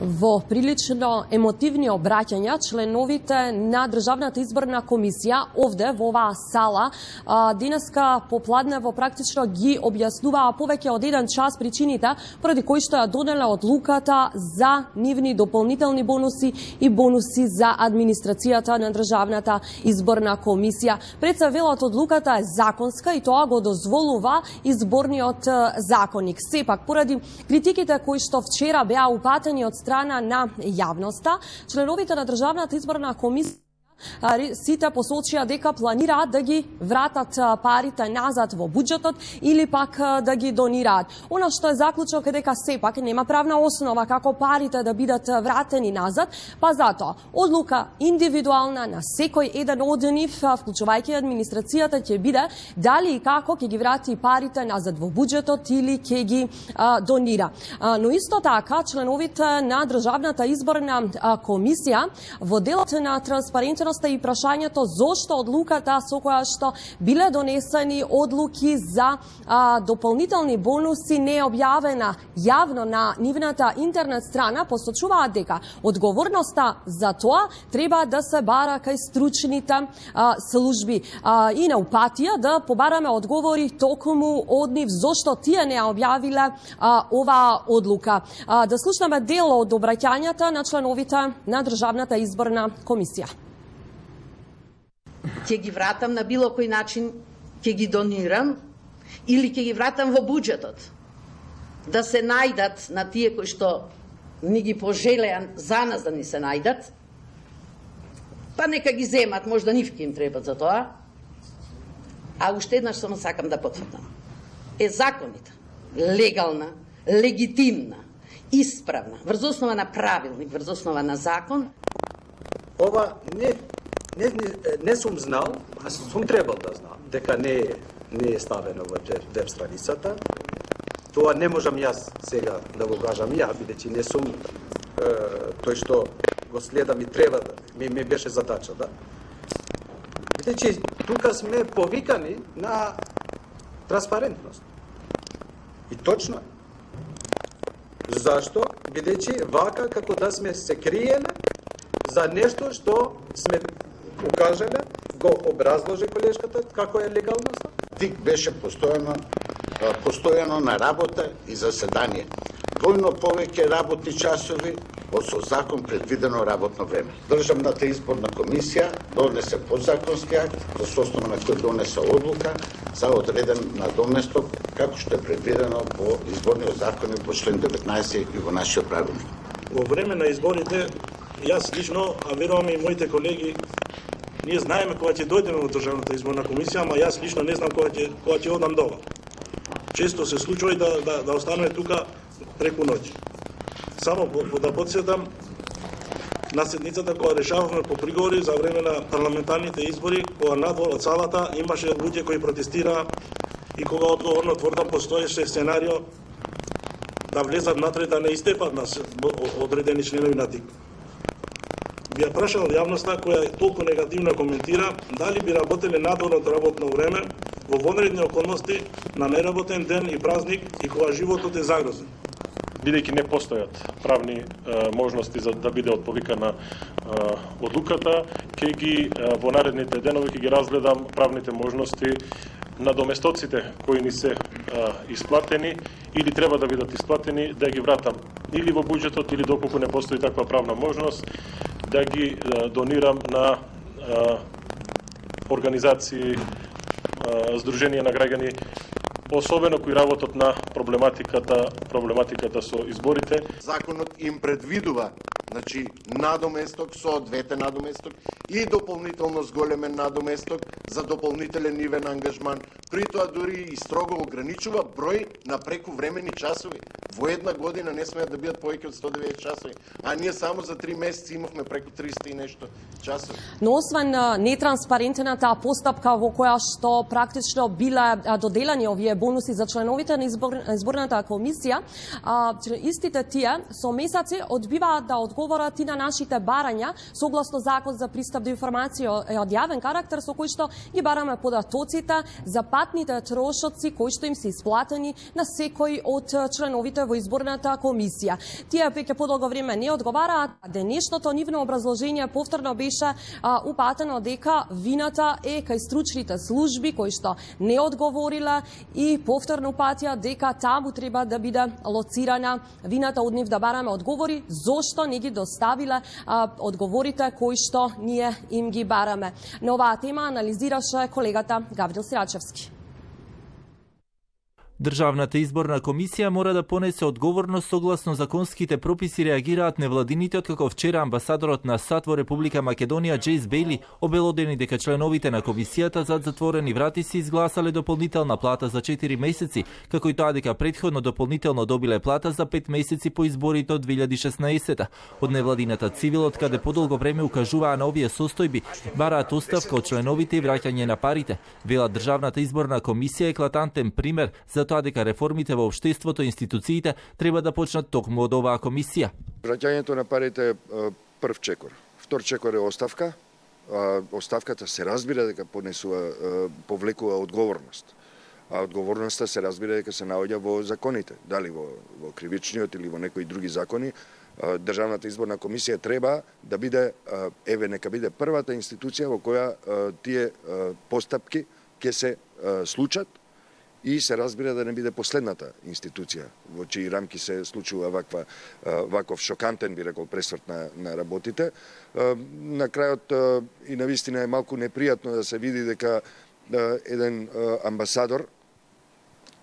Во прилично емотивни обраќања, членовите на Државната изборна комисија овде во оваа сала денеска попладнево практично ги објаснуваа повеќе од 1 час причините поради кои што ја донеле одлуката за нивни дополнителни бонуси и бонуси за администрацијата на Државната изборна комисија. Пред се велат одлуката е законска и тоа го дозволува изборниот законник. Сепак, поради критиките кои што вчера беа упатени од страна на јавноста, членовите на Државната изборна комисија сите посочија дека планираат да ги вратат парите назад во буџетот или пак да ги донираат. Она што е заклучок е дека сепак нема правна основа како парите да бидат вратени назад, па затоа одлука индивидуална на секој еден од нив, вклучувајќи администрацијата, ќе биде дали и како ќе ги врати парите назад во буџетот или ќе ги донира. Но исто така членовите на Државната изборна комисија во делот на транспарентност и прашањето зошто одлуката со која што биле донесени одлуки за дополнителни бонуси не е објавена јавно на нивната интернет страна, посочуваат дека одговорноста за тоа треба да се бара кај стручните служби и на упатија да побараме одговори токму од нив зошто тие не објавиле оваа одлука. Да слушнеме дел од обраќањата на членовите на Државната изборна комисија. Ќе ги вратам на било кој начин, ќе ги донирам или ќе ги вратам во буџетот. Да се најдат на тие кои што ни ги пожелеа за нас да ни се најдат, па нека ги земат, можда нивки им треба за тоа. А уште еднаш само сакам да потврдам. Е законита, легална, легитимна, исправна, врз основа на правилник, врз основа на закон. Ова не сум знал, а сум требал да знам, дека не е ставено во веб страницата. Тоа не можам јас сега да го кажам ја, бидејќи не сум тој што го следам и треба да ми беше задача, да. Бидејќи тука сме повикани на транспарентност. И точно е. Зашто? Бидејќи вака како да сме се криеле за нешто што сме укажале, го образложи колешката како е легалноста. ТИК беше постојано на работа и заседание. Двојно повеќе работни часови од со закон предвидено работно време. Државната изборна комисија донесе подзаконски акт, за основа на кој донесе одлука за одреден надоместок, како што е предвидено по изборниот закон и по член 19 и во нашиот правилник. Во време на изборите, јас лично, а верувам и моите колеги, ние знаеме кога ќе дојдеме во Државната изборна комисија, ама јас лично не знам кога ќе одам дома. Често се случува и да останеме тука преку ноќ. Само да потсетам на седницата кога решававме по приговори за време на парламентарните избори, кога надвор од салата имаше луѓе кои протестираа и кога одговорно тврдам постоеше сценарио да влезат натре да не истепат нас одредени членови на ТИК. Би ја прашал јавноста која толку негативно коментира дали би работеле надвор од работно време во вонредни околности на неработен ден и празник и кога животот е загрозен. Бидејќи не постојат правни можности за да биде отповикана одлуката, ќе ги во наредните денови ќе ги разгледам правните можности на доместоците кои ни се исплатени или треба да бидат исплатени, да ги вратам или во буџетот или доколку не постои таква правна можност, да ги донирам на организации, здруженија на граѓани, особено кои работат на проблематиката со изборите. Законот им предвидува, значи, надоместок со двете надоместок и дополнително зголемен надоместок за дополнителен нивен ангажман. При тоа дури и строго ограничува број на прекувремени часови. Во една година не смеат да бидат повеќе од 190 часови, а ние само за 3 месеци имавме преку 300 и нешто часови. Но освен нетранспарентната постапка во која што практично биле доделени овие бонуси за членовите на изборната комисија, истите тие со месеци одбиваат да одговорат и на нашите барања согласно Закон за пристап до информација од јавен карактер, со кој што ги бараме податоците за патните трошоци кои што им се исплатени на секој од членовите во изборната комисија. Тие веќе подолго време не одговараат, а денешното нивно образложение повторно беше упатено дека вината е кај стручните служби кои што не одговорила и повторно упатија дека таму треба да биде лоцирана вината од нив, да бараме одговори зошто не ги доставиле одговорите кои што ние им ги бараме. На оваа тема анализираше колегата Гаврил Сирачевски. Државната изборна комисија мора да понесе одговорност согласно законските прописи, реагираат невладините, откако вчера амбасадорот на САД во Република Македонија Джейс Бейли обелодени дека членовите на комисијата зад затворени врати си изгласале дополнителна плата за 4 месеци, како и тоа дека претходно дополнително добиле плата за 5 месеци по изборите од 2016. Од невладината цивилот, каде подолго време укажуваа на овие состојби, бараат оставка од членовите и враќање на парите. Велат Државната изборна комисија е еклатантен пример за тоа дека реформите во општеството и институциите треба да почнат токму од оваа комисија. Враќањето на парите е прв чекор. Втор чекор е оставка. Оставката се разбира дека повлекува одговорност. А одговорноста се разбира дека се наоѓа во законите, дали во кривичниот или во некои други закони. Државната изборна комисија треба да биде, нека биде првата институција во која тие постапки ќе се случат и се разбира да не биде последната институција во чии рамки се случува ваков шокантен, би рекол, пресврт на работите. На крајот и навистина е малку непријатно да се види дека еден амбасадор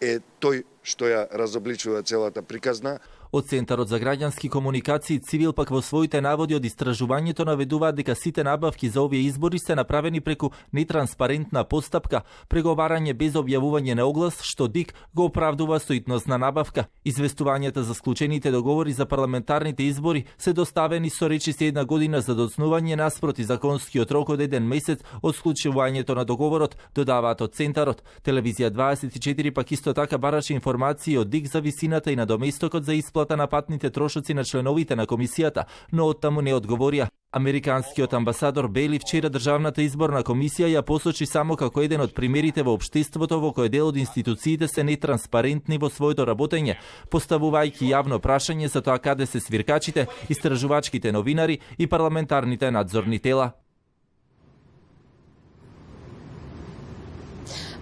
е тој што ја разобличува целата приказна. Од Центарот за граѓански комуникации Цивил пак во своите наводи од истражувањето наведуваат дека сите набавки за овие избори се направени преку нетранспарентна постапка, преговарање без објавување на оглас, што ДИК го оправдува со итност на набавка. Известувањата за склучените договори за парламентарните избори се доставени со речиси 1 година за доцнување наспроти законскиот рок од 1 месец од склучувањето на договорот, додаваат од Центарот. Телевизија 24 пак исто така бараше информации од ДИК за висината и надоместокот за исплата на патните трошоци на членовите на комисијата, но оттаму не одговорија. Американскиот амбасадор Бейли вчера Државната изборна комисија ја посочи само како еден од примерите во општеството во кој дел од институциите се нетранспарентни во своето работење, поставувајќи јавно прашање за тоа каде се свиркачите, истражувачките новинари и парламентарните надзорни тела.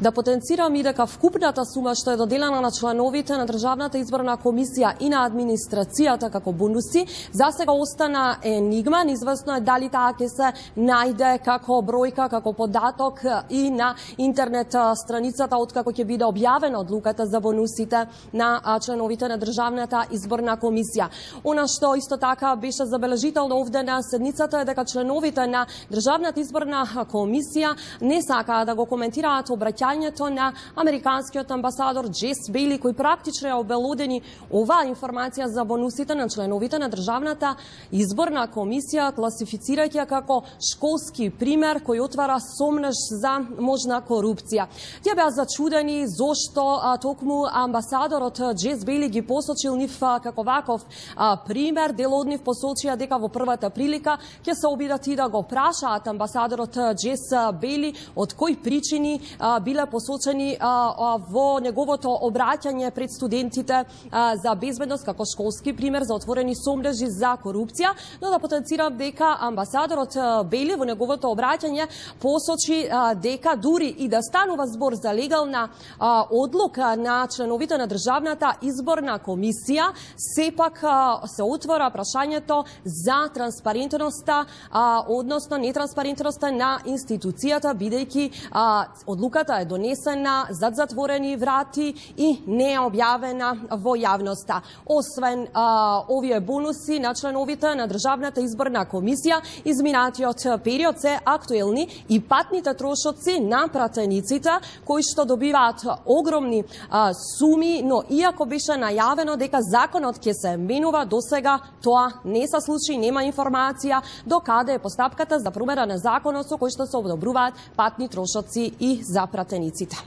Да потенцирам и дека вкупната сума што е доделена на членовите на Државната изборна комисија и на администрацијата како бонуси, засега остана енигма. Неизвестно е дали таа ќе се најде како бројка, како податок и на интернет страницата откако ќе биде објавена одлуката за бонусите на членовите на Државната изборна комисија. Она што исто така беше забележително овде на седницата е дека членовите на Државната изборна комисија не сакаа да го коментираат обраќањето на американскиот амбасадор Джейс Бейли, кој практично е обелодени оваа информација за бонусите на членовите на Државната изборна комисија, класифицирајќи ја како школски пример кој отвара сомнеж за можна корупција. Тие беа зачудени зошто токму амбасадорот Джейс Бейли ги посочил нив како ваков пример. Дел од нив посочија дека во првата прилика ќе се обидат и да го прашаат амбасадорот Джейс Бейли од кои причини биле посочени во неговото обраќање пред студентите за безбедност како школски пример за отворени сомнежи за корупција, но да потенцирам дека амбасадорот Бейли во неговото обраќање посочи дека дури и да станува збор за легална одлука на членовите на Државната изборна комисија, сепак се отвора прашањето за транспарентноста, односно нетранспарентноста на институцијата, бидејќи одлуката е донесена зад затворени врати и не е објавена во јавноста. Освен овие бонуси на членовите на Државната изборна комисија, изминатиот период се актуелни и патните трошоци на пратениците, кои што добиваат огромни суми, но иако беше најавено дека законот ќе се менува, досега тоа не се случи, нема информација до каде е постапката за промена на законот со кој што се одобруваат патни трошоци и за пратениците.